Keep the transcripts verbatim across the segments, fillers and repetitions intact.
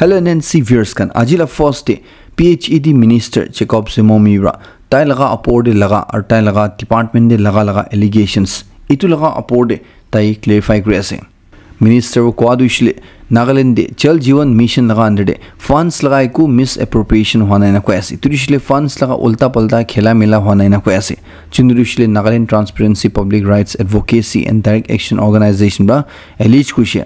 L N N C viewers khan, aji la first day P H E D minister Jacob Zemo Mira tai laga apor de laga aru tai laga department de laga laga allegations itu laga apor de tai clarify kuri ase. Minister wo koa tu ishile Nagaland de Jal Jeevan Mission laga under de funds laga eku misappropriation hua nai na koi ase. Itu ishile funds laga ulta palta khela mela hua nai na koi ase. Chundu ishile Nagaland Transparency, Public Rights Advocacy and Direct Action Organization ba allege kuishe.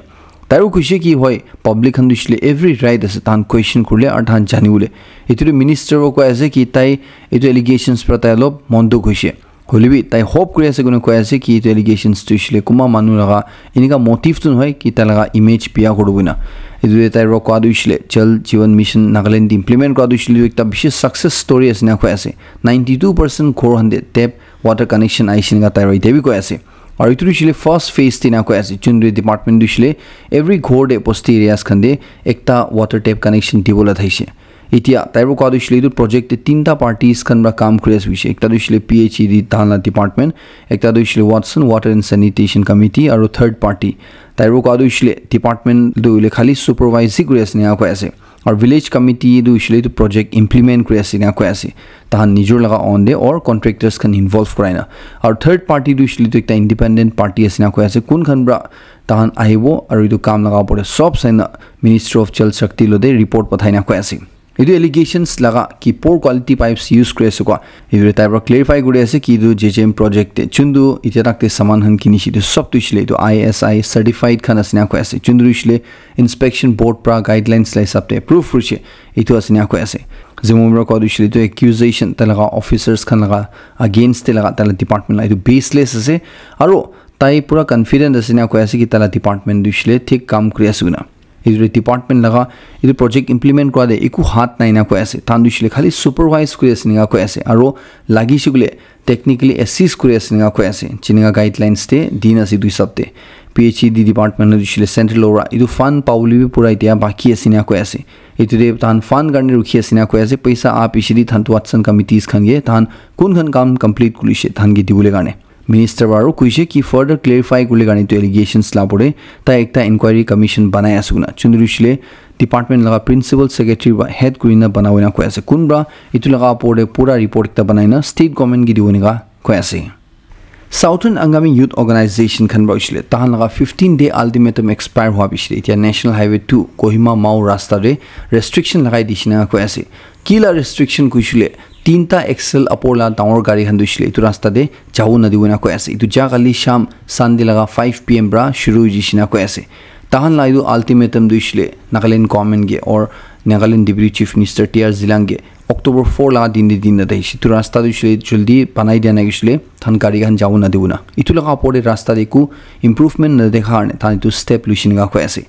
Tairu kuishe ki hoi public khan tu ishile every right ase tan question kurle ar tan jani ule. Itu de minister wo koi ase ki tai itu allegations pra tai lop mon dukh hoishe. Hoilebi tai hope kuri ase koina koi ase ki etu allegations tu ishile kuma manu laga enika motive tu nohoi ki tai laga image biya kuri bo na. Etu de tai ro koa tu ishile Jal Jeevan Mission Nagaland implement koa tu ishile ekta bishi success story ase na koi ase. Ninety two percent ghor hande tap water connection aishe na tai ro ite bi koi ase. Aru etu tu ishile first phase te na koi ase. Chundu department tu ishile every ghor de bosti areas khan de ekta water tap connection dibo la thaishe. Itia tai para koa tu hoishe le etu project te tinta parties khan para kam kuri ase hoishe. Ekta tu hoishe le P H E D tahan la department, ekta tu hoishe le Watson Water and Sanitation Committee aru third party. Tai para koa tu hoishe le department tu hoile khali supervise hi kuri ase ena koi ase. Aru village committee tu hoishe le etu project implement kuri ase ena koi ase. Tahan nijor laga own de or contractors khan involve kurai na. Aru third party tu hoishe le etu ekta independent party ase ena koi ase. Kun khan para tahan ahibo aru etu kam laga opor te sob sai na Ministry of Jal Shakti lo de report pathai na koi ase. Etu allegations laga ki poor quality pipes use kuri ase koa, etu tai para clarify kuri ase ki etu J J M project te chundu itya tak te saman khan kinishe etu sob tu hoishe le etu I S I certified khan ase na koi ase. Chundu hoishe le inspection board para guidelines la hisab te approve kurishe, etu ase na koi ase. Zemo para koa tu hoishe le etu accusation tai laga officers khan laga against te laga tai la department la etu baseless ase. Aru tai pura confident ase na koi ase ki tai la department tu hoishe le thik kam kuri ase koina. Etu department laga etu project implement kura de eku hat nai na koi ase. Tahan tu hoishe le khali supervise kuri ase ena koi ase. Aru lagi she koile technically assist kuri ase ena koi ase. Jenika guidelines te dina ase etu hisab te. P H E D department tu hoishe le central ora etu fund pabole bi pura itya baki ase ena koi ase. Etu de tahan fund karne rukhi ase ena koi ase. Paisa a piche de tahan tu Watson committees khan ke tahan kun khan kam complete kurishe tahan ke dibole karne. Minister para aru kuishe ki further clarify kurle karne etu allegations la opor te tai ekta inquiry commission banai ase koina. Chundu hoishe le department laga principal secretary para head kurina banabo ena koi ase. Kun para etu laga opor te pura report ekta banai na state government ke dibo ena koi ase. Southern Angami Youth Organization khan para hoishe le tahan laga fifteen day ultimatum expire hua piche de itya National Highway two Kohima Mao rasta te restriction lagai dishe ena koi ase. Kila restriction kuishe le tinta axle apor la dangor gari khan tu hoishe le etu rasta te jabo nadibo ena koi ase. Etu ja kali sham Sunday laga five P M para shuru hoishe ena koi ase. Tahan la etu ultimatum tu hoishe le Nagaland government ke or Nagaland Deputy Chief Minister T R Zeliang ke October four laga din te din na dai shi. Etu rasta tu hoishe le jaldi banai dia nai hoishe le tahan gari khan jabo nadibo na. Etu laga opor te rasta te eku improvement na dekha karne tahan etu step luishe ena koi ase.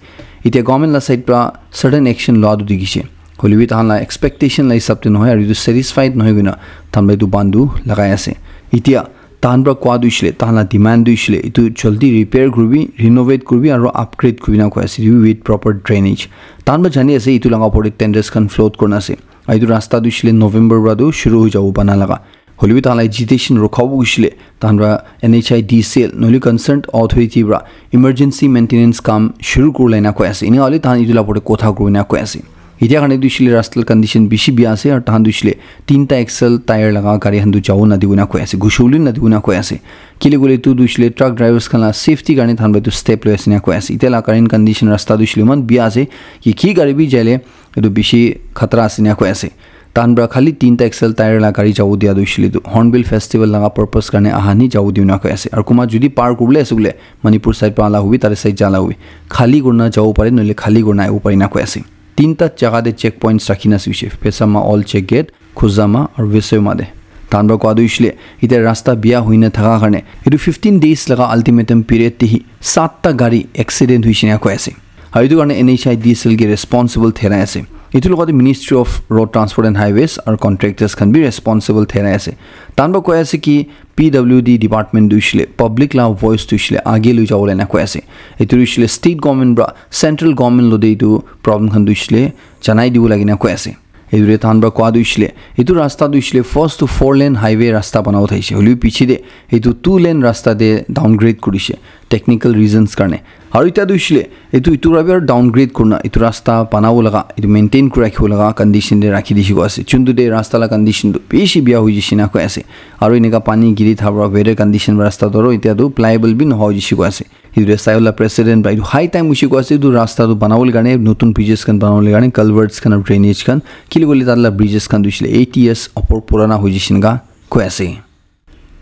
Itya government la side para certain action loa tu dikhishe. Hoilebi tahan la expectation la hisab te nohoi aru etu satisfied nohoi koina tahan para etu bandh tu lagai ase. Itya tahan para koa tu hoishe le tahan la demand tu hoishe le etu jaldi repair kuribi, renovate kuribi aru upgrade kuribi ena koi ase with proper drainage. Tahan para jani ase etu laga opor te tenders khan float kurina ase. Aru etu rasta tu hoishe le November para tu shuru hoi jabo bana laga. Hoilebi tahan la agitation rokhabo hoishe le tahan para N H I D C L nohole concerned authority para emergency maintenance kam shuru kuribole ena koi ase. Ena hoile tahan etu la opor te kotha kuribo ena koi ase. Itya karne tu hoishe le rasta la condition bishi bia ase aru tahan tu hoishe le tinta axle tyre laga gari khan tu jabo nadibo ena koi ase. Ghusi bole nadibo ena koi ase. Kile koile etu tu hoishe le truck drivers khan la safety karne tahan para etu step loi ase ena koi ase. Itya la current condition rasta tu hoishe le eman bia ase ki ki gari bi jaile etu bishi khatara ase ena koi ase. Tahan para khali tinta axle tyre la gari jabo dia tu hoishe le tu Hornbill Festival laga purpose karne aha ni jabo dibo ena koi ase. Aru kunba jodi par kuribole ase koile Manipur side para ala hobi, tate side jala hobi, khali kurina jabo pare, nohole khali kurina ahibo pare ena koi ase. Tinta jaga te check points rakhi na ase hoishe, Phesama Old Check Gate, Khuzama aru Vesoima te. Tahan para koa tu hoishe le, itya rasta bia hoina thaka karne, etu fifteen days laga ultimatum period te hi satta gari accident hoishe ena koi ase. Aru etu karne N H I D C L ke responsible therai ase. Etu logote Ministry of Road Transport and Highways aru contractors khan bi responsible therai ase. Tahan para koi ase ki P W D department tu hoishe le public la voice tu hoishe le age loi jabo le ena koi ase. Etu hoishe le state government para central government lo de etu problem khan tu hoishe le janai dibo lage ena koi ase. Etu de tahan para koa tu hoishe le etu rasta tu hoishe le first tu four lane highway rasta banabo thaishe. Hoilebi piche de etu two lane rasta te downgrade kurishe. technical reasons karne. Aru itya tu hoishile, etu, etu para bi aru downgrade kurina, etu rasta banabo laga, etu maintain kuri rakhibo laga condition te rakhi dishi koi ase. Chuntu te rasta la condition tu bishi biya hoi jishe na koi ase. Aru eneka pani giri thaka para weather condition para rasta tu aru itya tu pliable bi nohoi jishe koi ase. Etu te Sayola president para etu high time hoishe koi ase, etu rasta tu banabole karne, notun bridges khan banabole karne, culverts khan aru drainage khan, kile koile tar la bridges khan tu hoishile eighty years opor purana hoi jishe eneka koi ase.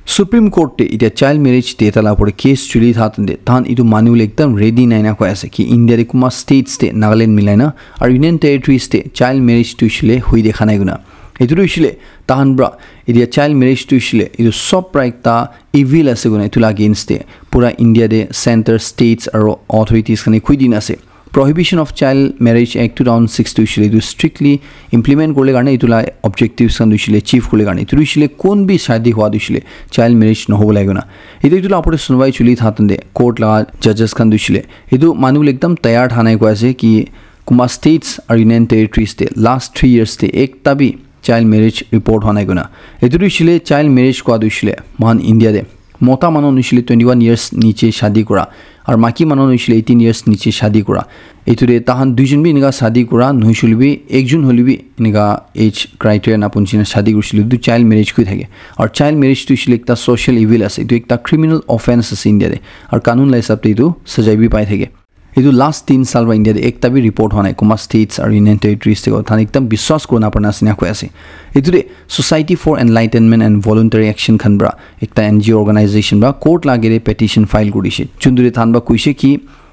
Supreme Court te itya child marriage te ta la opor case chuli tha tante, tahan etu manu le ekdam ready nai na koi ase ki India te kuma states te Nagaland milai na aru Union Territories te child marriage tu hoishile hui dekha nai kuna. Etu tu hoishile tahan pra itya child marriage tu hoishile etu sob pra ekta evil ase kuna etu la against te pura India te center, states aru authorities khan e koi dina ase. Prohibition of Child Marriage Act two thousand six tu hoishile etu strictly implement kurle karne etu la objectives khan tu hoishile achieve kurle karne etu tu hoishile kon bi shadi hua tu hoishile child marriage nohobo lage na. Etu etu la opor te sunwai chuli tha tante court la judges khan tu hoishile etu manu le ekdam tayar tha nai koi ase ki kuma states aru Union Territories te last three years te ekta bi child marriage report hua nai kuna. Etu tu hoishile child marriage kua tu hoishile mohan India te mota manu hoishile twenty one years niche shadi kura aru maki manu hoishile eighteen years niche shadi kura. Etu te tahan duijon bi enika shadi kura nohoishile bi ekjon hoile bi enika age criteria na punchi na shadi kurishile etu child marriage koi thake. Aru child marriage tu hoishile ekta social evil ase, etu ekta criminal offense ase India te. Aru kanun la hisab te etu sajai bi pai thake. Etu last tin saal para India te ekta bi report hua nai kuma states aru Union Territories te tahan ekdam biswas kuri na parna ase ena koi ase. Etu te Society for Enlightenment and Voluntary Action khan para ekta N G O organization para court la age te petition file kuri dishe. Chuntu te tahan para koishe ki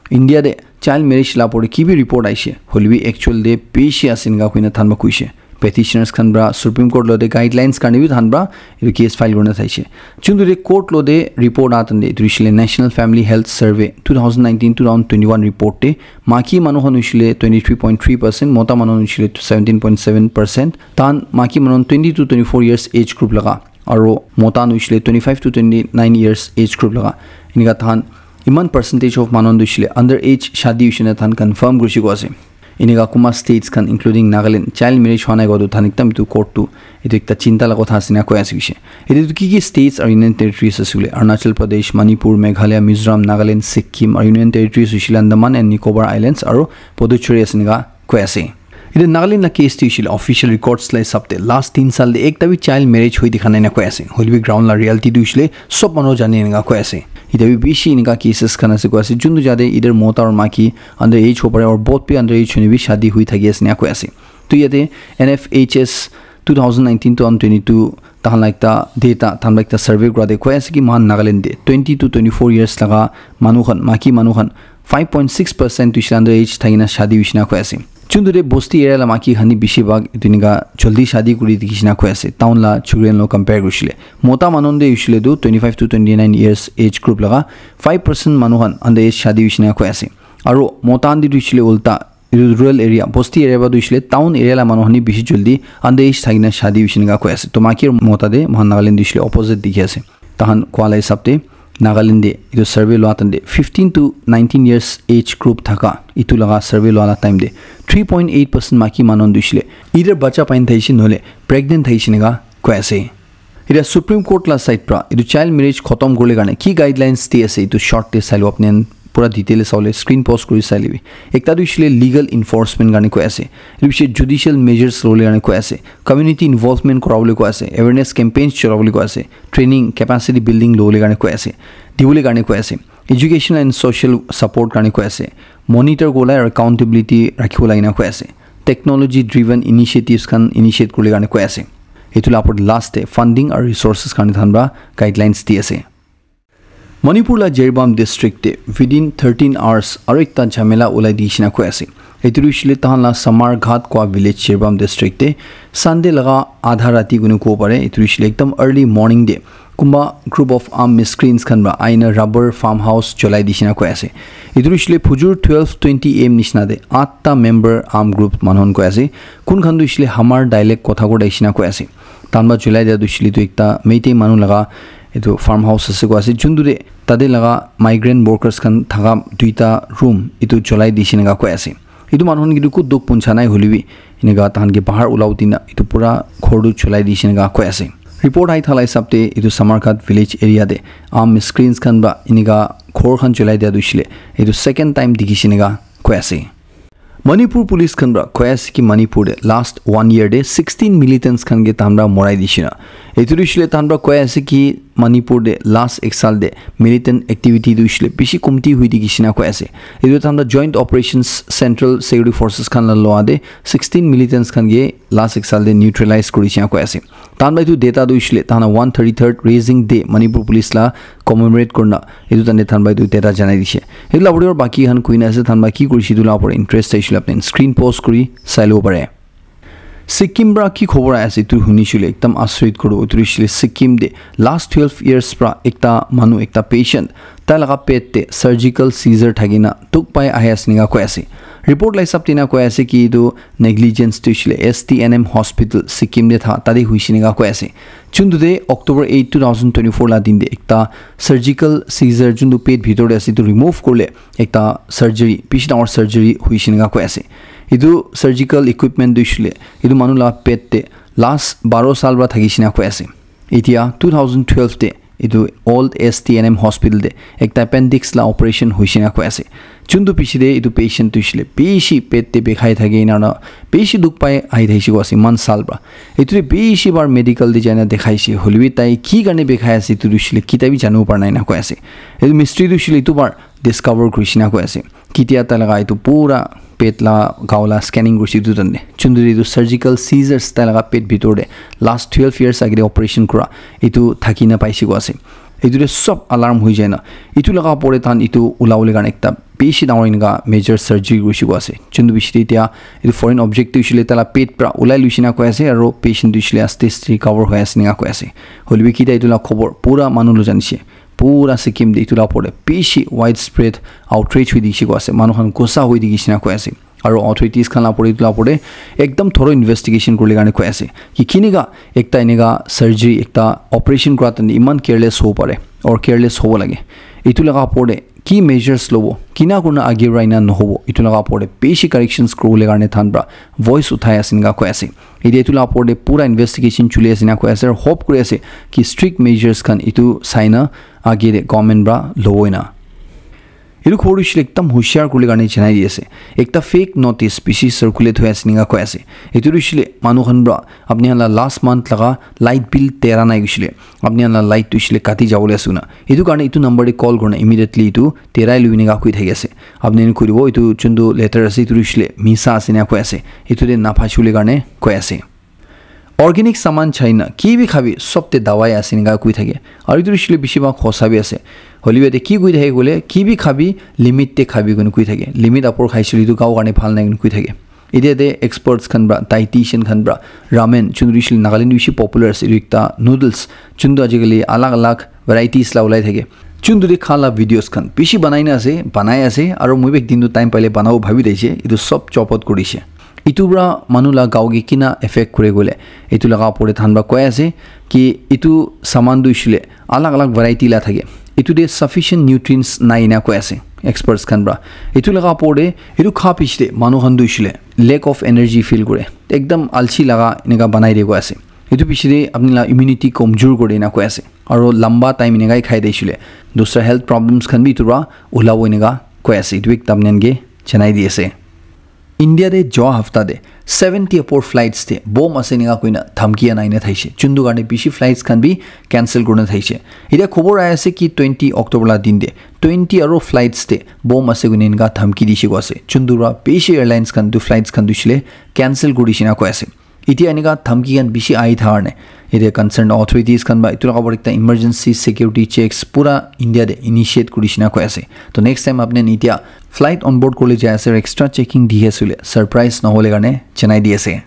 India te child marriage la opor te ki bi report aishe hoile bi actual te bishi ase ena koi na tahan para koishe. Petitioners khan para Supreme Court lo te guidelines karne bi tahan para etu case file kurina thaishe. Chuntu te court lo te report aa tante etu hoishile National Family Health Survey two thousand nineteen two thousand twenty one report te maki manu khan hoishile twenty three point three percent, mota manu khan hoishile seventeen point seven percent. Tahan maki manu khan twenty to twenty four years age group laga aru mota khan hoishile twenty five to twenty nine years age group laga enika tahan iman percentage of manu khan tu hoishile under age shadi hoishe na tahan confirm kurishe koi ase. Enika kuma states khan including Nagaland child marriage hua nai kua tu tahan ekdam etu court tu etu ekta chinta la kotha ase ena koi ase hoishe. Etu tu ki ki states aru Union Territories ase koile Arunachal Pradesh, Manipur, Meghalaya, Mizoram, Nagaland, Sikkim aru Union Territories hoishile Andaman and Nicobar Islands aru Puducherry ase ena koi ase. Etu Nagaland la case tu hoishile official records la hisab te last tin saal te ekta bi child marriage hoi dikha nai ena koi ase. Hoile bi ground la reality tu hoishile sob manu jane ena koi ase. Etu bi bishi enika cases khan ase koi ase. Chuntu jate either mota aru maki under age hobo pare aru both bi under age hoine bi shadi hoi thaki ase ena koi ase. Tu yate N F H S two thousand nineteen two thousand twenty two tahan la ekta data, tahan la ekta survey kura te koi ase ki mohan Nagaland te twenty to twenty four years laga manu khan, maki manu khan five point six percent tu hoishile under age thaki na shadi hoishe na koi ase. Chuntu te bosti area la maki khan ni bishi bhag etu enika jaldi shadi kuri dikhi shina koi ase, town la chukri khan lo compare kurishile. Mota manu khan te hoishile tu twenty five to twenty nine years age group laga five percent manu khan under age shadi hoishe na koi ase. Aru mota khan te tu hoishile ulta, etu rural area, bosti area para tu hoishile town area la manu khan ni bishi jaldi under age thaki na shadi hoishe na koi ase. To maki aru mota te mohan Nagaland te hoishile opposite dikhi ase. Tahan kua la hisab te Nagaland te etu survey lua time te fifteen to nineteen years age group thaka etu laga survey lua la time te three point eight percent maki manu khan tu hoishile either bacha paina thaishe nohole pregnant thaishe enika koi ase. Etia Supreme Court la side pra etu child marriage khotom kuribole karne ki guidelines di ase etu short te sai lo apni khan pura detail te sabole screen pause kuri sai lebi. Ekta tu hoishile legal enforcement karne koi ase. Etu piche judicial measures lobole karne koi ase. Community involvement korabole koi ase. Awareness campaigns chorabole koi ase. Training, capacity building lobole karne koi ase. Dibole karne koi ase. Education and social support karne koi ase. Monitor kuribole aru accountability rakhibo lage na koi ase. Technology driven initiatives khan initiate kuribole karne koi ase. Etu la opor te last te funding aru resources karne tahan pra guidelines di ase. Manipur la Jiribam district te within thirteen hours aru ekta jhamela ulai di shina koi ase. Etu tu hoishile tahan la Samarghat kua village Jiribam district te Sunday laga adha rati kunu kobo pare. Etu tu hoishile ekdam early morning te kunba group of armed miscreants khan pra aina rubber farmhouse cholai di shina koi ase. Etu tu hoishile phujur twelve twenty A M nishina te atta member armed group manu khan koi ase. Kun khan tu hoishile Hamar dialect kotha koi di shina koi ase. Tahan pra cholai dia tu hoishile tu ekta Meitei manu laga etu farmhouse ase koi ase. Juntu te tate laga migrant workers khan thaka duita room etu cholai di shina koi ase. Etu manu khan ke tu ku dukh puncha nai hoile bi enika tahan ke bahar ulabo dina etu pura ghor tu cholai di shina koi ase. Report ahi thala hisab te etu Samarkhat village area te armed miscreants khan para enika ghor khan cholai dia tu hoishe le etu second time dikhishe enika koi ase. Manipur police khan para koi ase ki Manipur te last one year te sixteen militants khan ke tahan para morai dishe na. Etu tu hoishe le tahan para koi ase ki Manipur te last ek saal te militant activity tu hoishe le bishi komti hui dikhishe na koi ase. Etu tahan para Joint Operations Central Security Forces khan la loa te sixteen militants khan ke last ek saal te neutralize kuri dishe na koi ase. Tahan para etu data tu hoishe le tahan la one thirty-third Raising Day Manipur Police la commemorate kurina etu tahan para etu data janai dishe. Etu la opor te baki khan koi na ase, tahan para ki kurishe etu la opor te interest thakishi le apni screen pause kuri sai lobo pare. Sikkim para ki khobor ahi ase etu hunishe le ekdam asrit koribo. Etu hoishe le Sikkim te last twelve years para ekta manu, ekta patient, tai laga pet te surgical seizure thaki na dukh pai ahi ase enika koi ase. Report la hisab te enika koi ase ki etu negligence tu hoishe le S T N M hospital Sikkim te tha tate hoishe enika koi ase. Juntu te October eight, two thousand twenty-four la din te ekta surgical seizure juntu pet bhitor te ase etu remove kurile ekta surgery, bishi dangor surgery hoishe enika koi ase. Etu surgical equipment tu hoishe le etu manu la pet te last baro saal para thakishe enika koi ase. Etia two thousand twelve te etu old S T N M hospital te ekta appendix la operation hoishe enika koi ase. Juntu piche te etu patient tu hoishe le bishi pet te bikhai thake ena na bishi dukh pai ahi thakishe koi ase eman saal para. Etu te bishi bar medical te jai na dikhaishe, hoile bi tai ki karne bikhai ase etu tu hoishe le kitia bi janibo para nai ena koi ase. Etu mystery tu hoishe le etu bar discover kurishe enika koi ase. Kitia tai laga etu pura pet la gao la scanning kurishe etu tahan te. Juntu te etu surgical seizures tai laga pet bhitor te last twelve years age te operation kura etu thaki na paishe koi ase. Etu te sob alarm hoi jai na. Etu laga opor te tahan etu ulabole karne ekta bishi dangor enika major surgery kurishe koi ase. Juntu piche te etia etu foreign object tu hoishe le tai la pet para ulai loishe enika koi ase aro patient tu hoishe le aste aste recover hoi ase enika koi ase. Hoile bi kitia etu la khobor pura manu lo janishe. Pura Sikkim te etu la opor te bishi widespread outrage hoi dikhishe koi ase. Manu khan gussa hoi dikhishe enika koi ase. Aro authorities khan la opor te etu la opor te ekdam thorough investigation kurile karne koi ase. Ki kinika ekta enika surgery, ekta operation kura tahan te eman careless hobo pare or careless hobo lage. Etu laga opor te ki measures lobo, kina kurina age para ena nohobo, etu laga opor te bishi corrections kuribole karne tahan para voice uthai ase enika koi ase. Etia etu la opor te pura investigation chuli ase enika koi ase, aru hope kuri ase ki strict measures khan etu sai na age te government para lobo ena. Etu khobor tu hoishe le ekdam hushiar kuribole karne janai di ase. Ekta fake notice bishi circulate hoi ase enika koi ase. Etu tu hoishe le manu khan para apni khan la last month laga light bill tera nai hoishe le apni khan la light tu hoishe le kati jabole ase koina. Etu karne etu number te call kurina immediately etu terai lui enika koi thaki ase. Apni khan koi dibo etu juntu letter ase etu tu hoishe le misa ase enika koi ase. Etu te na phasibole karne koi ase. Organic saman chai na ki bi khabi sob te dawai ase enika koi thake. Aru etu hoishe le bishi bhag hosa bi ase. Hoile bi yate ki koi thake koile ki bi khabi limit te khabi koina koi thake. Limit apor khaishe le etu gao karne bhal nai koina koi thake. Etia te experts khan para, dietitian khan para, ramen, juntu hoishe le Nagaland te bishi popular ase, etu ekta noodles, juntu ajikali alag alag varieties la ulai thake. Juntu te kha la videos khan bishi banai na ase, banai ase, aru moi bi ek din tu time paile banabo bhabi thakishe, etu sob chop out kuri dishe. Etu para manu la gao ke kina effect kure koile, etu laga opor te tahan para koi ase ki etu saman tu hoishe le alag alag variety la thake. Etu te sufficient nutrients nai ena koi ase experts khan para. Etu laga opor te etu kha piche te manu khan tu hoishe le lack of energy feel kure. Ekdam alsi laga enika banai de koi ase. Etu piche te apni la immunity komjor kore ena koi ase. Aru lamba time enika khai de hoishe le dusra health problems khan bi etu para ulabo enika koi ase. Etu ekdam nen ke janai di ase. India te joa hafta te seventy apor flights te bomb ase enika koina dhamki anai na thaishe. Juntu karne bishi flights khan bi cancel kurina thaishe. Etia khobor ahi ase ki twenty October la din te twenty aro flights te bomb ase koina enika dhamki dishe koi ase. Juntu para bishi airlines khan tu flights khan tu hoishe le cancel kuri dishe na koi ase. Etia enika dhamki khan bishi ahi thaka karne etia concerned authorities khan para etu laga opor ekta emergency security checks pura India te initiate kuri dishe na koi ase. To next time apni khan etia flight on board kuribole jai ase aru extra checking dihi ase koile surprise nohobole karne janai di ase.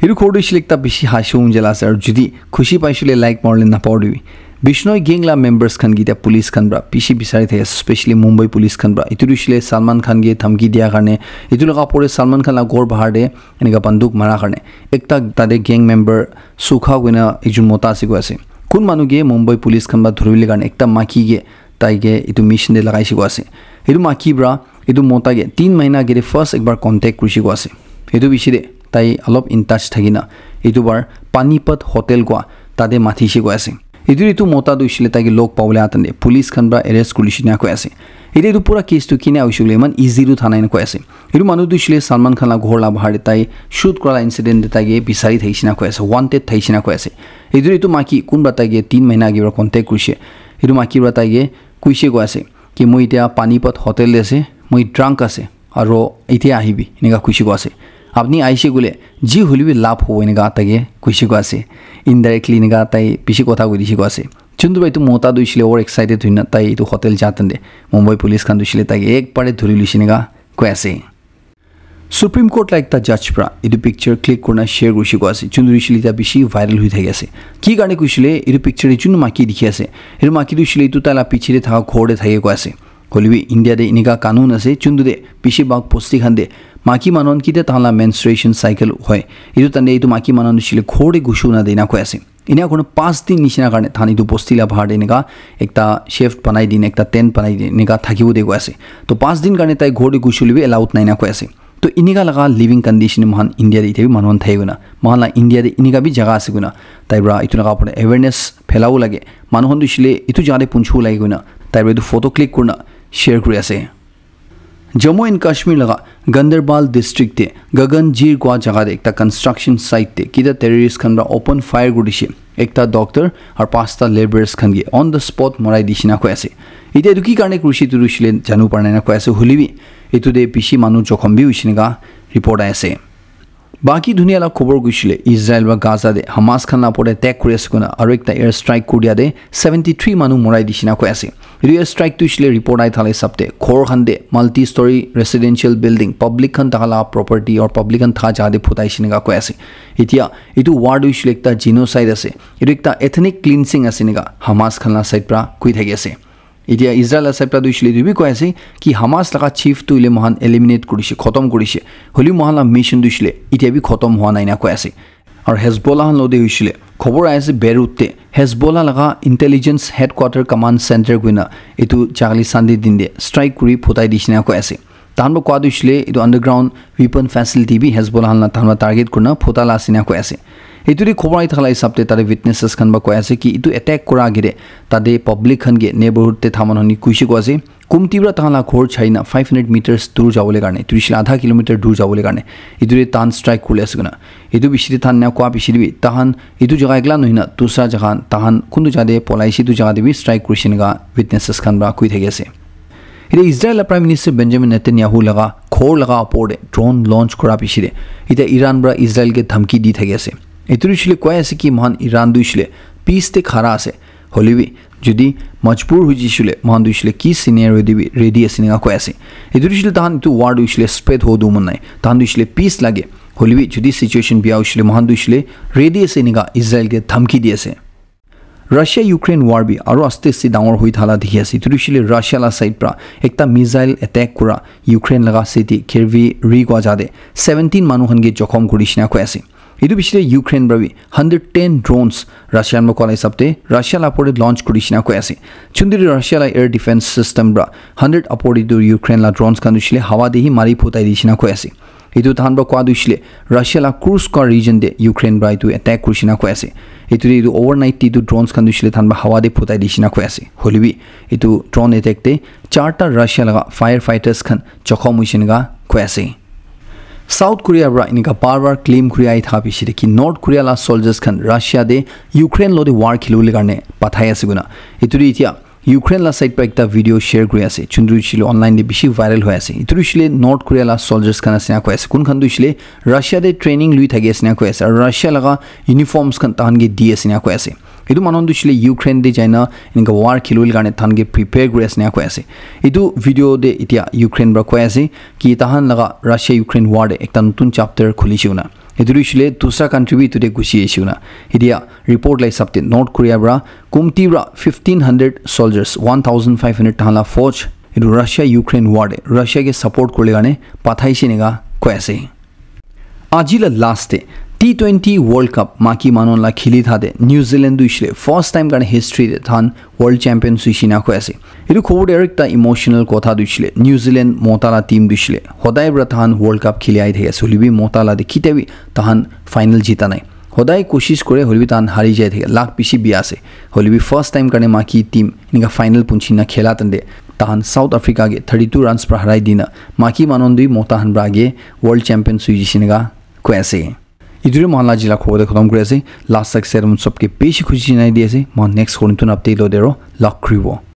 Etu khobor tu hoishe le ekta bishi hashi wong jala ase aru jodi khushi paishe koile like maribole napahoribi. Bishnoi gang la members khan ke etia police khan para bishi bisari thaki ase, especially Mumbai police khan para. Etu tu hoishe le Salman Khan ke dhamki dia karne, etu laga opor te Salman Khan la ghor bahar te enika banduk mara karne ekta tate gang member Sukha koina ekjon mota ase koi ase. Kun manu ke Mumbai police khan para dhuribole karne ekta maiki ke tai ke etu mission te lagaishe koi ase. Etu maiki para etu mota ke tin mahina agete first ekbar contact kurishe koi ase. Etu piche te tai olop in touch thaki na etu bar Panipat Hotel koi tate mathi she koi ase. Etu etu mota tu hoishe le taike log pabole atan te police khan para arrest kuri she na koi ase. Etu etu pura case tu kina hoishe le iman easy tu thana ena koi ase. Etu manu tu hoishe le Salman Khan la ghor la bahar te tai shoot kura la incident te taike bisari thai she na koi ase, wanted thai she na koi ase. Etu etu maki kunba taike tin mahina age para contact kurishe. Etu maki para taike kuishe koi ase ki moi etia Panipat hotel te ase, moi drunk ase, aro etia ahibi, eneka kuishe koi ase. Apni aishe koile ji hoile bi labh hobo, eneka taike kuishe koi ase. Indirectly eneka tai bishi kotha koi dishe koi ase. Chuntu bhai tu mota tu hoishe le over excited hoina tai etu hotel ja tan te Mumbai police khan tu hoishe le taike ek bare dhuri luishe eneka koi ase. Supreme Court la ekta judge pra etu picture click kurina share kurishe koi ase. Chuntu hoishe le etia bishi viral hoi thaki ase. Ki karne kuishe le etu picture te chuntu maki dikhi ase. Etu maki tu hoishe le etu tai la piche te thaka ghor te thake koi ase. Hoile bi India te enika kanun ase, chuntu te bishi bhag bosti khan te maki manu khan kitia tahan la menstruation cycle hoi, etu tande etu maki manu khan hoishe le ghor te gushu na de na koi ase. Enia kurina pas din nishina karne tahan etu bosti la bahar te enika ekta shed banai din, ekta tent banai din, enika thakibo de koi ase. To pas din karne tai ghor te gushu le bi allowed nai na koi ase. To enika laga living condition moikhan India te etia bi manu khan thai koina, moikhan la India te enika bi jaga ase koina, tai pra etu laga opor te awareness phelabo lage. Manu khan tu hoishe le etu jaga te punchibo lage koina, tai pra etu photo click kurina share kuri ase. Jammu and Kashmir laga Ganderbal district te Gaganjir kua jaga te ekta construction site te kita terrorist khan pra open fire kuri dishe, ekta doctor aru pasta labourers khan ke on the spot morai dishe na koi ase. Etia etu ki karne kurishe etu tu hoishe le janu para nai na koi ase, hoile bi etu te bishi manu jokhom bi hoishe enika report ahi ase. Baki dunia la khobor kuishe le Israel pra Gaza te Hamas khan la opor te attack kuri ase koina aru ekta air strike kuri dia te seventy three manu morai dishe na koi ase. Etu air strike tu hoishe le report ahi thala hisab te ghor khan te multi story residential building public khan thaka la property or public khan thaka jaga te phutai she enika koi ase. Etia etu war tu hoishe le ekta genocide ase. Etu ekta ethnic cleansing ase enika Hamas khan la side pra koi thaki ase. Etia Israel la side pra tu hoishe le etu bi koi ase ki Hamas laga chief tu hoile moikhan eliminate kurishe, khotom kurishe. Hoilebi moikhan la mission tu hoishe le etia bi khotom hua nai na koi ase. Aru Hezbollah khan lo te hoishe le khobor ahi ase Beirut te Hezbollah laga intelligence headquarter command center koina etu jagale Sunday din te strike kuri phutai dishe na koi ase. Tahan pra koa tu hoishe le etu underground weapon facility bi Hezbollah khan la tahan pra target kurina phuta la ase na koi ase. Etu te khobor ahi thaka la hisab te tate witnesses khan pra koi ase ki etu attack kura age te tate public khan ke neighborhood te thaman honi kuishe koi ase. Kumti pra tahan la ghor chai na five hundred meters dur jabole karne, etu hoishe le adha kilometer dur jabole karne etu te tahan strike kuri ase koina. Etu bishi te tahan ena koa bishi te bi tahan etu jaga ekla nohoi na dusra jaga tahan kuntu jaga te polai she etu jaga te bi strike kurishe enika witnesses khan pra koi thaki ase. Etia Israel la Prime Minister Benjamin Netanyahu laga ghor laga opor te drone launch kura piche te etia Iran pra Israel ke dhamki di thaki ase. Etu hoishe le koi ase ki moikhan Iran tu hoishe le peace te khara ase. Hoilebi jodi majbur hoi jishe le moikhan tu hoishe le ki scenario te bi ready ase enika koi ase. Etu hoishe le tahan etu war tu hoishe le spread ho du mon nai. Tahan tu hoishe le peace lage. Hoilebi jodi situation bia hoishe le moikhan tu hoishe le ready ase enika Israel ke dhamki di ase. Russia Ukraine war bi aru aste aste dangor hoi thala dikhi ase. Etu tu hoishe le Russia la side pra ekta missile attack kura Ukraine laga city Khervi ri kua jaga te seventeen manu khan ke jokhom kuri dishe na koi ase. Etu piche te Ukraine pra bi hundred ten drones Russia khan pra koa la hisab te Russia la opor te launch kuri dishe na koi ase. Chuntu te Russia la air defense system pra hundred opor te tu Ukraine la drones khan tu hoishe le hawa te hi mari phutai dishe na koi ase. Etu tahan pra koa tu hoishe le Russia la Kursk region te Ukraine pra etu attack kurishe na koi ase. Etu te etu overnight te etu drones khan tu hoishe le tahan pra hawa te phutai dishe na koi ase. Hoilebi etu drone attack te charta Russia laga firefighters khan jokhom hoishe enika koi ase. South Korea pra enika bar bar claim kuri ahi thaka piche te ki North Korea la soldiers khan Russia te Ukraine lo te war khilibole karne pathai ase koina. Etu te etia Ukraine la side pra ekta video share kuri ase. Chuntu hoishe le online te bishi viral hoi ase. Etu hoishe le North Korea la soldiers khan ase na koi ase. Kun khan tu hoishe le Russia te training lui thaki ase na koi ase. Aru Russia laga uniforms khan tahan ke di ase na koi ase. Etu manu khan tu hoishe le Ukraine te jai na enika war khilibole karne tahan ke prepare kuri ase na koi ase. Etu video te etia Ukraine pra koi ase ki tahan laga Russia Ukraine war te ekta notun chapter khulishe koina. Etu tu hoishe le dusra country bi etu te ghusi ahishe koina. Etia report la hisab te North Korea pra kumti pra fifteen hundred soldiers, one thousand five hundred tahan la fauj, etu Russia Ukraine war te Russia ke support kuribole karne pathaishe enika koi ase. Aji la last te T twenty World Cup maki manu la khili thaka te New Zealand tu hoishe le first time karne history te tahan world champions hoishe enika koi ase. Etu khobor te aru ekta emotional kotha tu hoishe le New Zealand mota la team tu hoishe le hodai pra tahan World Cup khili ahi thaki ase, hoilebi mota la te kitia bi tahan final jita nai. Hodai koshish kore hoilebi tahan hari jai thake, luck bishi bia ase. Hoilebi first time karne maki team enika final punchi na khela tande tahan South Africa ke thirty-two runs pra harai dina maki manon dui mota han pra age world champion sui jishe enika koi ase. Ituri mohan la jila khobor de khotom kuri ase. Last tak set mon sobke bishi khushi nai di ase. Mohan next khon tun update lo dero. Luck kribo.